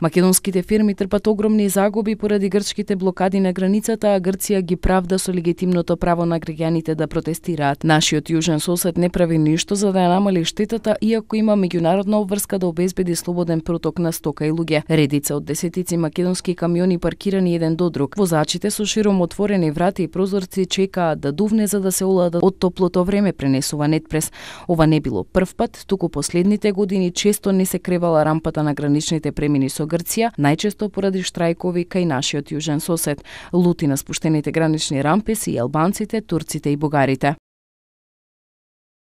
Македонските фирми трпат огромни загуби поради грчките блокади на границата, а Грција ги правда со легитимното право на граѓаните да протестираат. Нашиот јужен сосед не прави ништо за да ја намали штетата, иако има меѓународна обврска да обезбеди слободен проток на стока и луѓе. Редица од десетици македонски камиони паркирани еден до друг. Возачите со широм отворени врати и прозорци чекаат да дувне за да се оладат од топлото време, пренесува Нетпрес. Ова не било прв пат, туку последните години често не се кревала рампата на граничните премини со Грција, најчесто поради штрајкови кај нашиот јужен сосед. Лути на спуштените гранични рампи се и албанците, турците и бугарите.